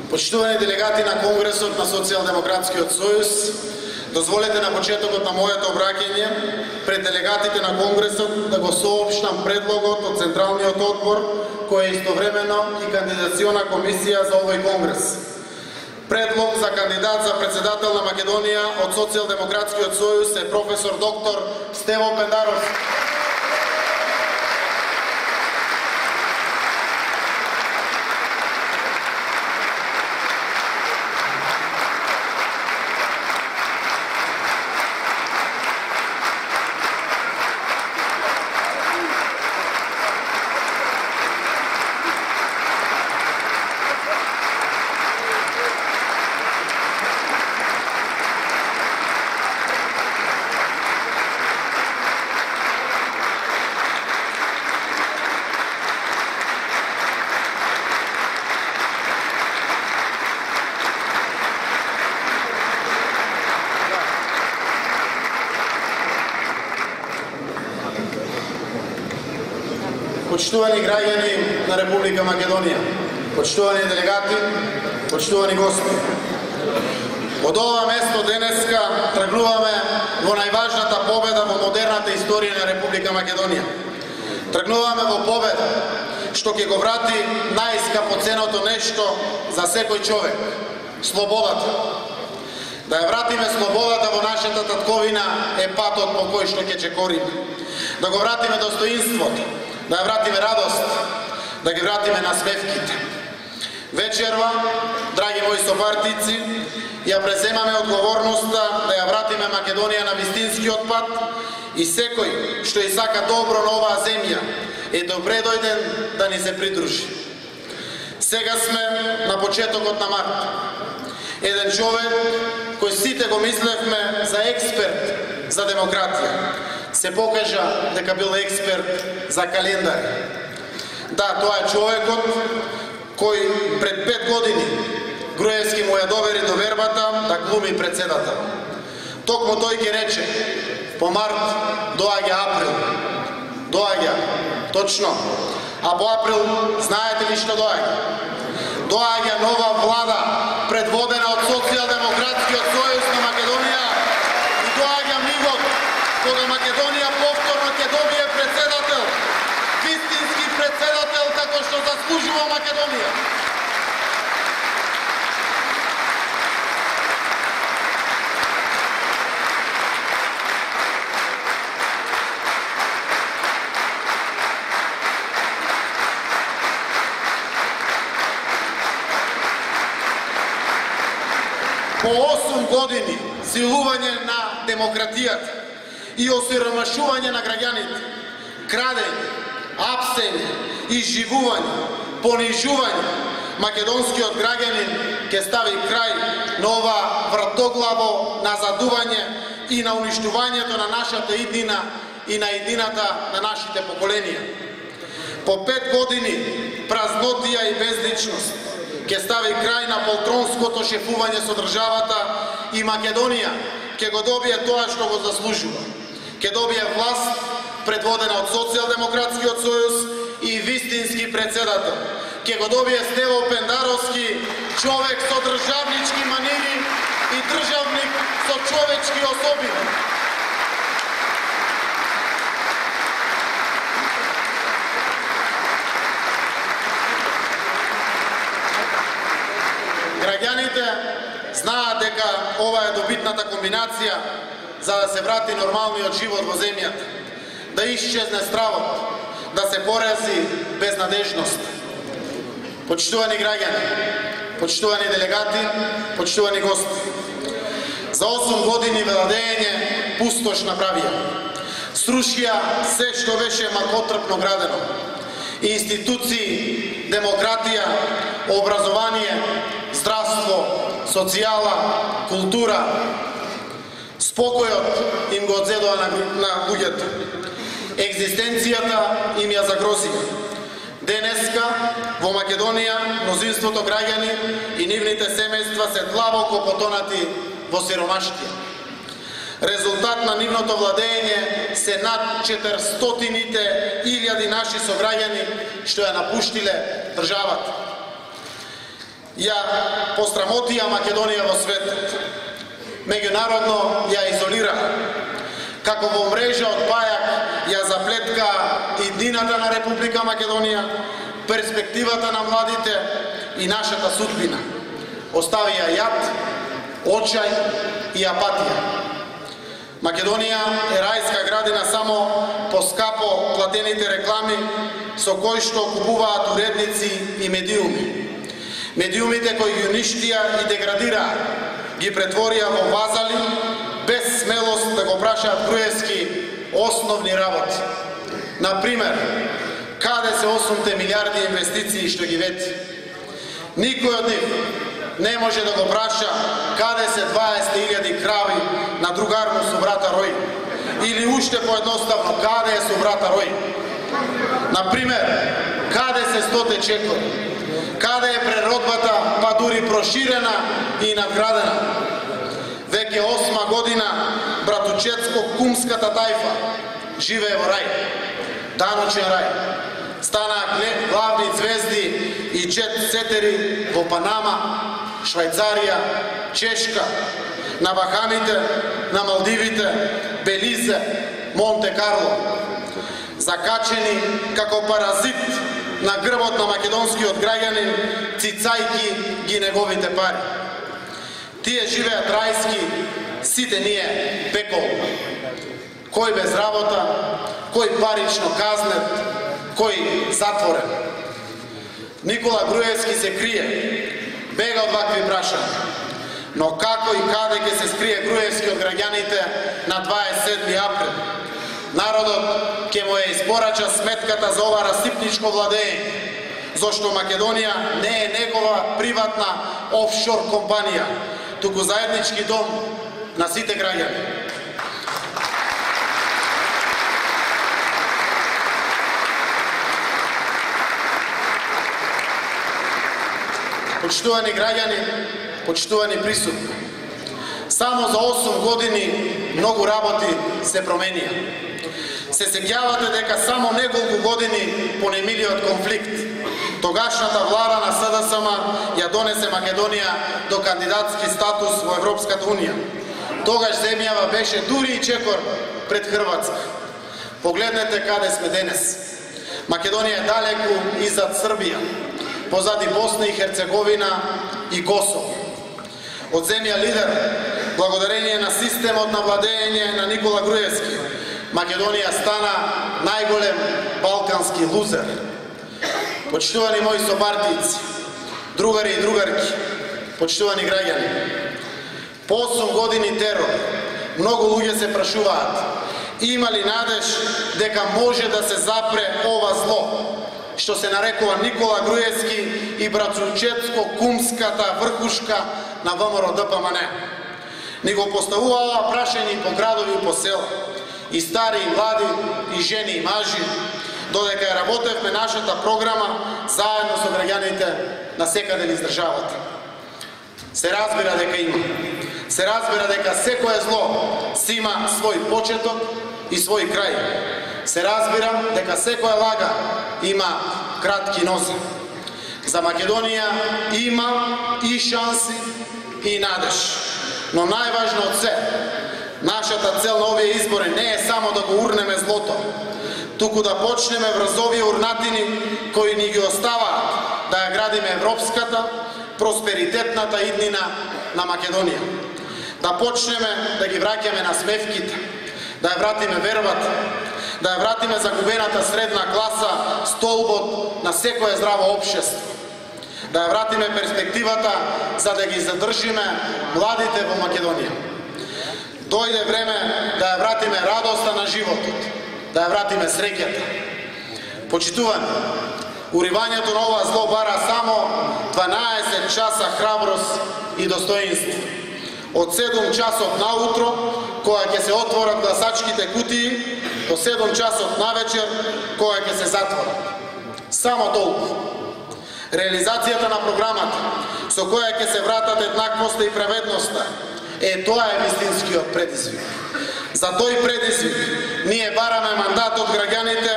Почитувани делегати на Конгресот на Социјалдемократскиот сојуз, дозволете на почетокот на моето обраќање пред делегатите на Конгресот да го соопштам предлогот од Централниот одбор, кој е истовремено и кандидациона комисија за овој Конгрес. Предлог за кандидат за председател на Македонија од Социјалдемократскиот сојуз е професор доктор Стево Пендаровски. Почитувани граѓани на Република Македонија, почитувани делегати, почитувани гости. Од ова место денеска тргнуваме во најважната победа во модерната историја на Република Македонија. Тргнуваме во победа што ќе го врати најскапоценото нешто за секој човек – слободата. Да ја вратиме слободата во нашата татковина е патот по кој што ќе чекориме. Да го вратиме достоинството, да ја вратиме радост, да ги вратиме насмевките. Вечерва, драги мои сопартици, ја преземаме одговорноста да ја вратиме Македонија на вистинскиот пат и секој што и сака добро на оваа земја е добре дојден да ни се придружи. Сега сме на почетокот на март. Еден човек кој сите го мислевме за експерт за демократија, се покажа дека бил експерт за календар. Да, тоа е човекот кој пред 5 години Груевски му ја довери довербата да глуми председател. Токму тој ќе рече, по март доаѓа април. Доаѓа, точно. А по април знаете ли што доаѓа? Доаѓа нова влада предводена од Социјалдемократскиот сојуз на Македонија и доаѓа мигот кога Македонија повторно ќе добие председател, вистински председател како што заслужува Македонија. По 8 години силување на демократијата и осиромашување на граѓаните, крадење, апсење, изживување, понижување, македонскиот граѓанин ќе стави крај на ова вратоглаво назадување и на уништувањето на нашата иднина и на иднината на нашите поколенија. По 5 години празнотија и безличност ќе стави крај на полтронското шефување со државата и Македонија ќе го добие тоа што го заслужува. Ќе добие власт предводена од Социјалдемократскиот сојуз и вистински председател. Ќе го добие Стево Пендаровски, човек со државнички манири и државник со човечки особини. Граѓаните знаат дека ова е добитната комбинација за да се врати нормалниот живот во земјата, да исчезне стравот, да се порази безнадежност. Почитувани граѓани, почитувани делегати, почитувани гости, за 8 години владење пустош направија. Срушија се што беше макотрпно градено. Институции, демократија, образование, здравство, социјала, култура. Спокојот им го одзедува на луѓето. Екзистенцијата им ја загрозија. Денеска во Македонија мнозинството граѓани и нивните семејства се длабоко потонати во сиромаштија. Резултат на нивното владење се над 400.000 наши сограѓани што ја напуштиле државата. ја пострамотија Македонија во светот. Меѓународно ја изолира. Како во мрежа од пајак ја заплетка иднината на Република Македонија, перспективата на младите и нашата судбина. Остави ја јад, очај и апатија. Македонија е рајска градина само по скапо платените реклами со кои што купуваат уредници и медиуми. Медиумите кои ги уништија и деградираа, ги претворија во вазали, без смелост да го прашаат Груевски основни работи. Например, каде се 8 милиарди инвестиции што ги вети? Никој од нив не може да го праша каде се 20.000 крави на другарно со брата Рој. Или уште поедноставно, каде е со брата Рој? Например, каде се 100 чекори? Каде е преродбата, па дури проширена и надградена? Веќе 8 година братучетско-кумската тајфа живее во рај, даночен рај. Станаа главни звезди и джет-сетери во Панама, Швајцарија, Чешка, на Бахамите, на Малдивите, Белизе, Монте Карло. Закачени како паразит на грбот на македонскиот граѓанин, цицајки ги неговите пари. Тие живеат рајски, сите ние пекол. Кој без работа, кој парично казнет, кој затворен. Никола Груевски се крие, бега од вакви прашања. Но како и каде ќе се скрие Груевски од граѓаните на 27 април? Народот ќе му ја испорача сметката за ова расипничко владење, зашто Македонија не е негова приватна офшор компанија, туку заеднички дом на сите граѓани. Почитувани граѓани, почитувани присутни, само за 8 години многу работи се променија. Се сеќавате дека само неколку години по немилиот конфликт, тогашната влада на СДСМ ја донесе Македонија до кандидатски статус во Европската Унија. Тогаш земјава беше дури и чекор пред Хрватска. Погледнете каде сме денес. Македонија е далеку изад Србија, позади Босна и Херцеговина и Косово. Од земја лидер, благодарение на системот на владење на Никола Груевски, Македонија стана најголем балкански лузер. Почитувани мои собартици, другари и другарки, почитувани граѓани, по 8 години терор, многу луѓе се прашуваат, има ли надеж дека може да се запре ова зло, што се нарекува Никола Груевски и братучетско-кумската врхушка на ВМРО ДПМН. Ни го поставува ова прашање и по градови и по села, и стари, и млади, и жени, и мажи, додека ја работевме нашата програма заедно со граѓаните на секаде низ државата. Се разбира дека има. Се разбира дека секое зло си има свој почеток и свој крај. Се разбира дека секоја лага има кратки нозе. За Македонија има и шанси и надеж. Но најважно од се, нашата цел на овие избори не е само да го урнеме злото, туку да почнеме врз овие урнатини кои ни ги оставаат да ја градиме европската, просперитетната иднина на Македонија. Да почнеме да ги враќаме на смевките, да ја вратиме вербата, да ја вратиме загубената средна класа, столбот на секое здраво општество. Да ја вратиме перспективата за да ги задржиме младите во Македонија. Дојде време да ја вратиме радоста на животот, да ја вратиме среќата. Почитувани, уривањето на ова зло бара само 12 часа храброст и достоинство. Од 7 часот наутро, кога ќе се отворат гласачките кутии, до 7 часот навечер, кога ќе се затворат. Само толку. Реализацијата на програмата, со која ќе се вратат еднаквоста и праведноста, тоа е вистинскиот предизвик. За тој предизвик ние бараме мандат од граѓаните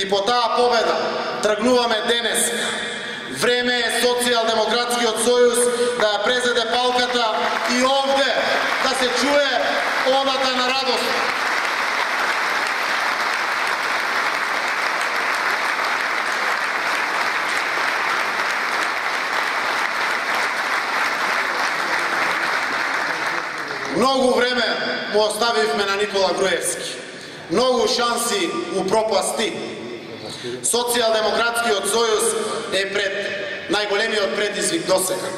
и по таа победа тргнуваме денес, Време е Социјалдемократскиот сојуз да ја презеде палката и овде да се чуе одата на радост. Многу време му оставивме на Никола Груевски. Многу шанси упропасти. Социјалдемократскиот сојуз е пред најголемиот предизвик досега.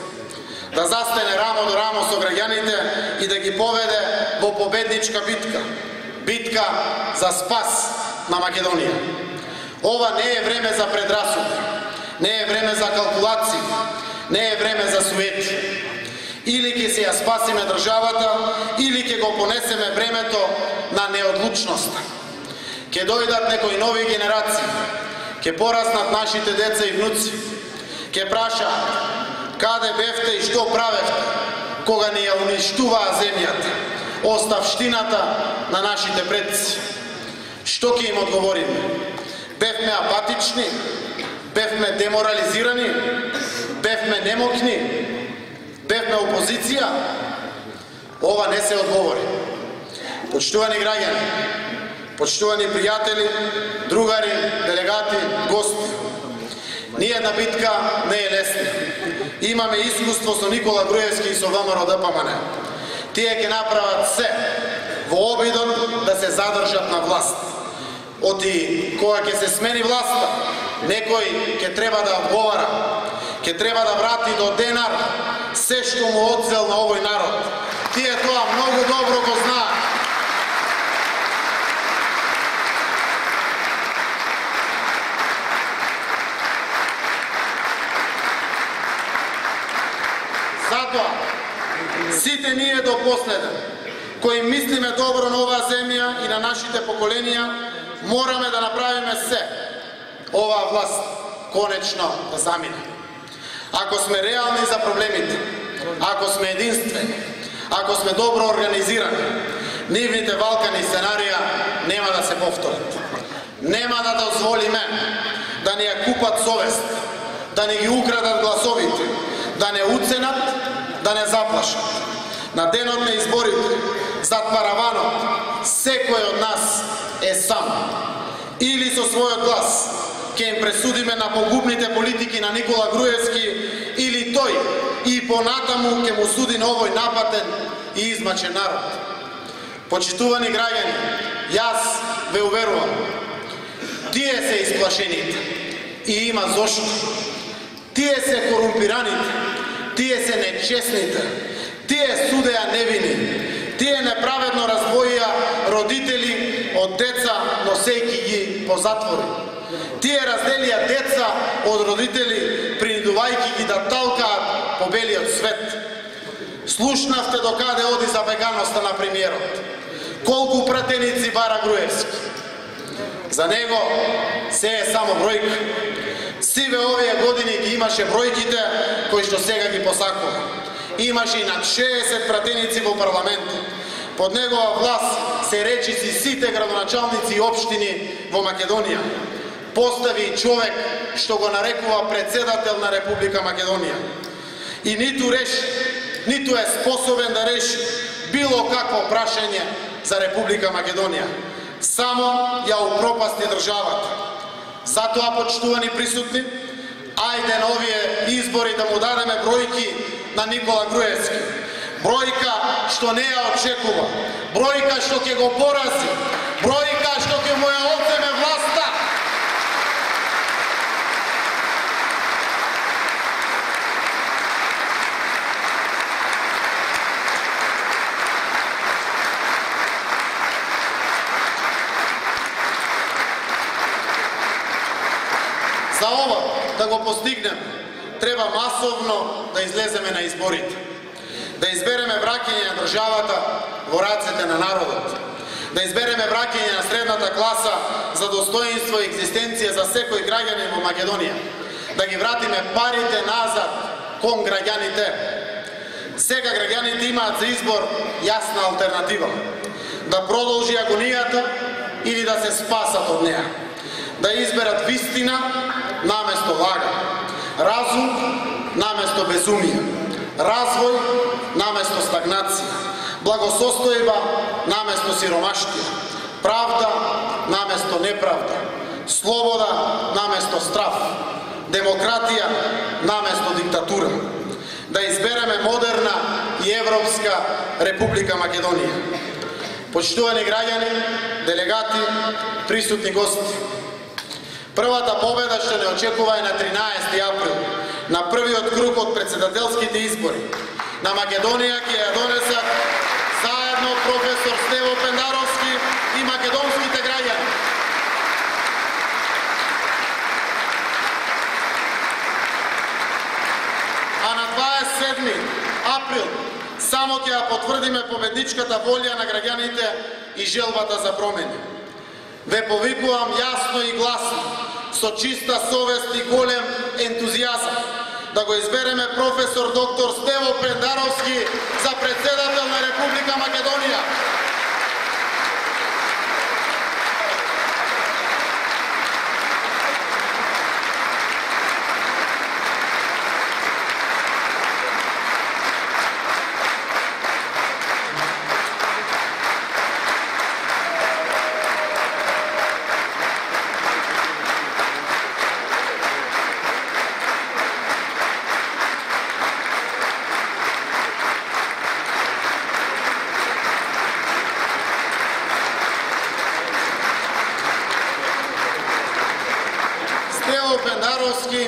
Да застане рамо до рамо со граѓаните и да ги поведе во победничка битка. Битка за спас на Македонија. Ова не е време за предрасуди, не е време за калкулации, не е време за суети. Или ќе се ја спасиме државата, или ќе го понесеме бремето на неодлучноста. Ќе дојдат некои нови генерации, ќе пораснат нашите деца и внуци, ќе прашаат каде бевте и што правевте кога ни ја уништуваа земјата, оставштината на нашите предци. Што ќе им одговориме? Бевме апатични, бевме деморализирани, бевме немокни, бевме опозиција? Ова не се одговори. Почитувани граѓани, почитувани пријатели, другари, делегати, гости, ниједна битка не е лесна. Имаме искуство со Никола Груевски и со ВМРО-ДПМН. Тие ќе направат се во обидот да се задржат на власт. Оти кога ќе се смени власта, некој ќе треба да одговара, ќе треба да врати до денар се што му одзел на овој народ. Тие тоа многу добро го знаат. Затоа, сите ние до последен, кои мислиме добро на оваа земја и на нашите поколенија, мораме да направиме се оваа власт конечно да замине. Ако сме реални за проблемите, ако сме единствени, ако сме добро организирани, нивните валкани сценарија нема да се повторат. Нема да дозволиме да ни ја купат совест, да ни ги украдат гласовите, да не уценат, да не заплашат. На денот на изборите, зад параванот, секој од нас е сам. Или со својот глас ќе им пресудиме на погубните политики на Никола Груевски, или тој и понатаму ќе му суди на овој напатен и измачен народ. Почитувани граѓани, јас ве уверувам, тие се исплашените и има зошто. Тие се корумпираните, тие се нечестните, тие судеа невини, тие неправедно раздвоија родители од деца, носејки ги по затвори. Тие разделија деца од родители, принудувајќи ги да талкаат по белиот свет. Слушнавте докаде оди забеганоста на премиерот. Колку пратеници бара Груевски. За него се е само бројка. Сиве овие години ги имаше бројките кои што сега ги посакува. Имаше и над 60 пратеници во парламент. Под негова власт се речиси сите градоначалници и општини во Македонија. Постави човек што го нарекува председател на Република Македонија. И ниту реши, ниту е способен да реши било какво прашање за Република Македонија. Само ја упропасти државата. Затоа, почитувани присутни, ајде на овие избори да му дадеме бројки на Никола Груевски. Бројка што не ја очекува, бројка што ќе го порази, бројка што ќе му ја одземе власта. За ова да го постигнем, треба масовно да излеземе на изборите. Да избереме враќање на државата во рацете на народот. Да избереме враќање на средната класа за достоинство и екзистенција за секој граѓанин во Македонија. Да ги вратиме парите назад кон граѓаните. Сега граѓаните имаат за избор јасна алтернатива. Да продолжи агонијата или да се спасат од неа. Да изберат вистина наместо лага. разум наместо безумие, развој наместо стагнација, благосостојба наместо сиромаштија, правда наместо неправда, слобода наместо страф, демократија наместо диктатура. Да избереме модерна и европска Република Македонија. Почитувани граѓани, делегати, присутни гости, првата победа што не очекува е на 13 април, на првиот круг од председателските избори. На Македонија ќе ја донесат заедно професор Стево Пендаровски и македонските граѓани. А на 27 април само ќе ја потврдиме победничката волја на граѓаните и желбата за промени. Ве повикувам јасно и гласно, со чиста совест и голем ентузијазам, да го избереме професор доктор Стево Пендаровски за председател на Република Македонија. Стево Пендаровски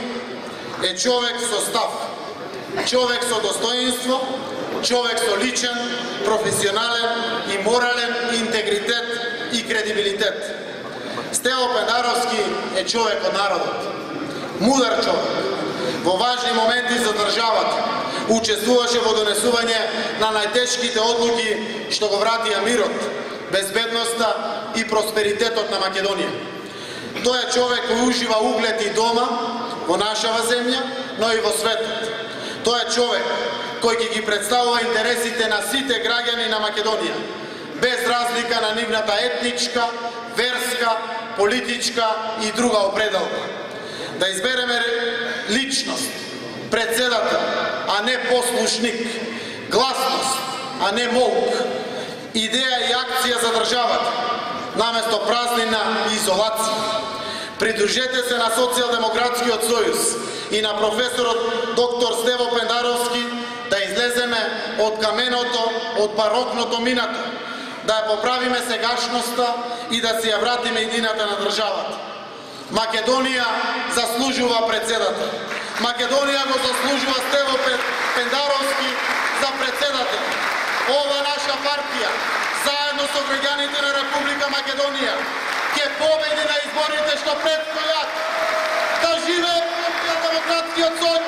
е човек со став, човек со достоинство, човек со личен, професионален и морален интегритет и кредибилитет. Стево Пендаровски е човек од народот, мудар човек, во важни моменти за државата, учествуваше во донесување на најтешките одлуки што го вратија мирот, безбедноста и просперитетот на Македонија. Тој е човек кој ужива углед и дома во нашава земја, но и во светот. Тој е човек кој ќе ги представува интересите на сите граѓани на Македонија, без разлика на нивната етничка, верска, политичка и друга определба. Да избереме личност, председател, а не послушник, гласност, а не молк, идеја и акција за државата, наместо празнина и изолација. Придружете се на Социјалдемократскиот сојуз и на професорот доктор Стево Пендаровски да излеземе од каменото, од барокното минато, да ја поправиме сегашноста и да си ја вратиме идината на државата. Македонија заслужува председател. Македонија го заслужува Стево Пендаровски за председател. Ова наша партија, заедно со граѓаните на Република Македонија, ќе победи на изборите што предстојат. Да живее Социјалдемократскиот сојуз!